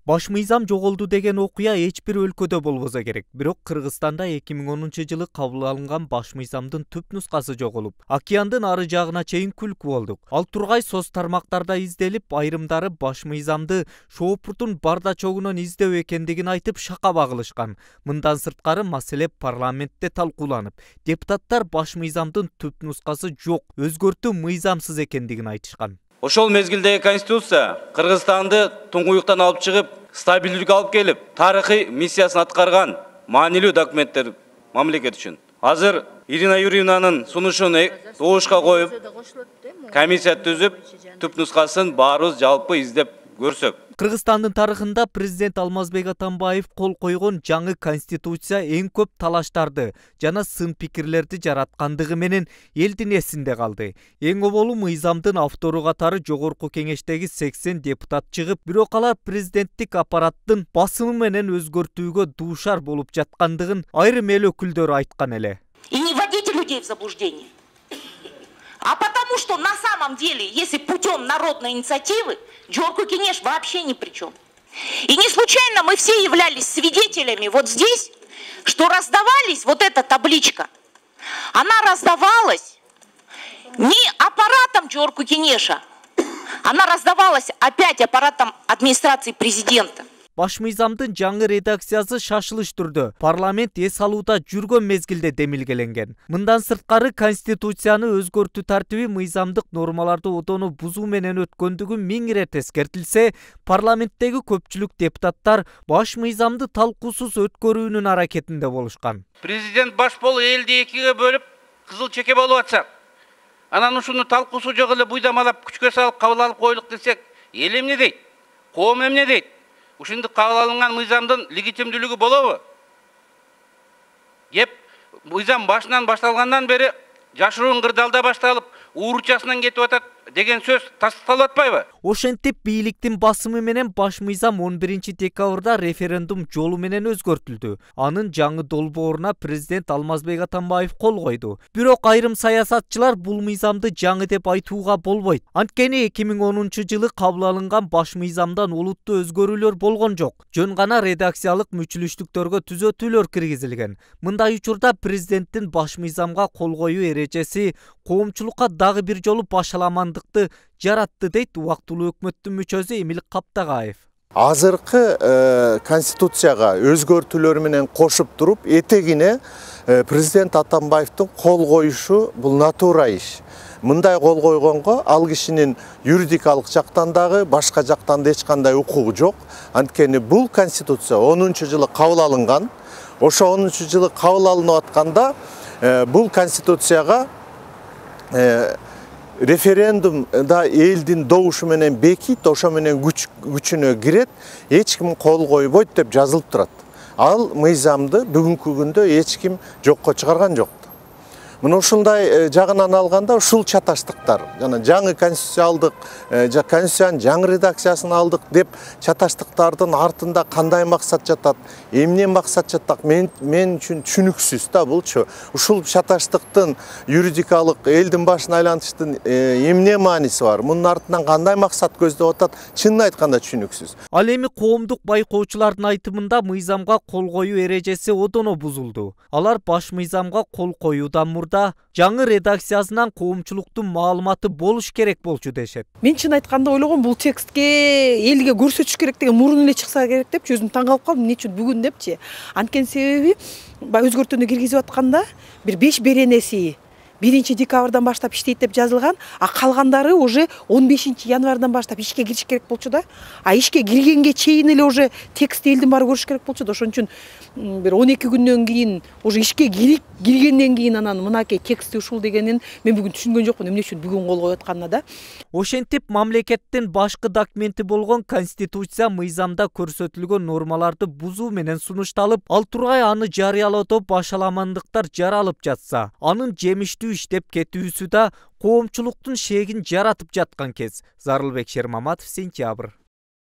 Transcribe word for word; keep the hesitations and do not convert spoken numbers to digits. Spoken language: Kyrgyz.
Баш мыйзам жоголду деген окуя эч бир өлкөдө болбосо керек. Бирок Кыргызстанда эки миң онунчу жылы кабыл алынган баш мыйзамдын түп нускасы жоголуп, океандын ары жагына чейин күлкү болдук. Ал тургай соц тармактарда изделип, айрымдары баш мыйзамды шоопуртун бардачогунан издөө экендигин айтып шакаба кылышкан. Мындан сырткары маселе парламентте талкууланып, депутаттар баш мыйзамдын түп нускасы жок, өзгөртүү мыйзамсыз экендигин айтышкан. Ошол мезгилдеги конституция Кыргызстанды туңгуюктан алып чыгып, стабилдүүлүк алып келип, тарыхый миссиясын аткарган маанилүү документтер мамлекет үчүн. Азыр Ирина Юрьевнанын сунушун добушка коюп, комиссия түзүп, түп нускасын баарыбыз жалпы издеп көрсөк. Кыргызстандын тарыхында президент Алмазбек Атамбаев кол койгон жаңы конституция эң көп талаштарды жана сын пикирлерди жараткандыгы менен элдин эсинде калды. Эң оболу мыйзамдын автору катары жогорку кеңештеги сексен депутат чыгып, бирок алар президенттик аппараттын басымы менен өзгөртүүгө дуушар болуп жаткандыгын айрым эл өкүлдөрү айткан эле. И не вводите людей в заблуждение. А потому что на самом деле, если путем народной инициативы, Джорку Кенеш вообще ни при чем. И не случайно мы все являлись свидетелями вот здесь, что раздавались, вот эта табличка, она раздавалась не аппаратом Джорку Кенеша, она раздавалась опять аппаратом администрации президента. Баш мыйзамдын жаңы редакциясы шашылыш түрдө парламент эс алууда жүргөн мезгилде демилгеленген. Мындан сырткары конституцияны өзгөртүү тартиби мыйзамдык нормаларды одону бузуу менен өткөндүгү миң ирет эскертилсе, парламенттеги көпчүлүк депутаттар баш мыйзамды талкуусуз өткөрүүнүн аракетинде болушкан. Президент баш болуп элди экиге бөлүп, кызыл чеке болуп атса, анан ушуну талкуусу жок эле буйдамалап күчкө салып кабыл алып коелук десек, эл эмне дейт? Коом эмне дейт? Ушундай кабыл алынган мыйзамдын легитимдүүлүгү болобу? Кеп мыйзам башынан башталгандан бери жашыруун кырдаалда башталып, ууручасынан кетип атат деген сөз тастыкталып атпайбы? Ошентип бийликтин басымы менен баш мыйзам он биринчи декабрда референдум жолу менен өзгөртүлдү. Анын жаңы долбооруна президент Алмазбек Атамбаев кол койду. Бирок айрым саясатчылар бул мыйзамды жаңы деп айтууга болбойт. Анткени эки миң онунчу жылы кабыл алынган баш мыйзамдан олуттуу өзгөрүүлөр болгон жок. Жөн гана редакциялык мүчүлүштүктөргө түзөтүүлөр киргизилген. Мындай учурда президенттин баш мыйзамга кол коюу эрежеси коомчулукка дагы бир жолу башаламандыкты жаратты дейт убактылуу өкмөттүн мүчөсү Эмил Каптагаев. Азыркы э, конституцияга өзгөртүүлөр менен кошуп туруп, этегине э, президент Атамбаевдин кол коюшу бул натура иш. Мындай кол койгонго ал кишинин юридикалык жактан дагы, башка жактан да эч кандай укугу жок. Анткени бул конституция онунчу жылы кабыл алынган. Ошо онунчу жылы кабыл алынып атканда э, бул конституцияга э, референдумда элдин добушу менен бекит, ошо менен күч күчүнө кирет, эч ким кол койбойт деп жазылып турат. Ал мыйзамды бүгүнкү күндө эч ким жокко чыгарган жок. Мына ушундай жагынан алганда ушул чаташтыктар, жана жаңы конституция алдык, конституциянын жаңы редакциясын алдык деп чаташтыктардын артында кандай максат жатат, эмне максат жатат, мен мен үчүн түшүнүксүз да булчу. Ушул чаташтыктын юридикалык элдин башын айлантыштын эмне мааниси бар? Мунун артынан кандай максат көздөп атат? Чынын айтканда түшүнүксүз. Ал эми коомдук байкоочулардын айтымында мыйзамга кол коюу эрежеси одоно бузулду. Алар баш мыйзамга кол коюудан мурда жаңы редакциясынан коомчулуктун маалыматы болуш керек болчу дешет. Мен чын айтканда ойлогом бул текстке элге көрсөтүш керек деген мурун эле чыкса керек деп өзүм таң калып калдым. Эмне үчүн бүгүн депчи? Анткени себеби баягы өзгөртүүнү киргизип атканда бир беш беренеси биринчи декабрдан баштап иштейт деп жазылган, а калгандары уже он бешинчи январдан баштап ишке кириш керек болчу да. А ишке киргенге чейин эле уже текстти элдин баары көрүш керек болчу да. Ошон үчүн бир он эки күндөн кийин уже ишке киргенден кийин анан мынакей тексти ушул дегенин мен бүгүн түшүнгөн жокмун, эмне үчүн бүгүн кол коюп атканына да. Ошентип мамлекеттин башкы документи болгон конституция мыйзамда көрсөтүлгөн нормаларды бузуу менен сунушталып, ал тургай аны жарыялоодо башаламандыктар жаралып жатса, анын жемиштүү иштеп кетүүсү да коомчулуктун шегин жаратып жаткан кез. Зарылбек Шермаматов, Сентябрь.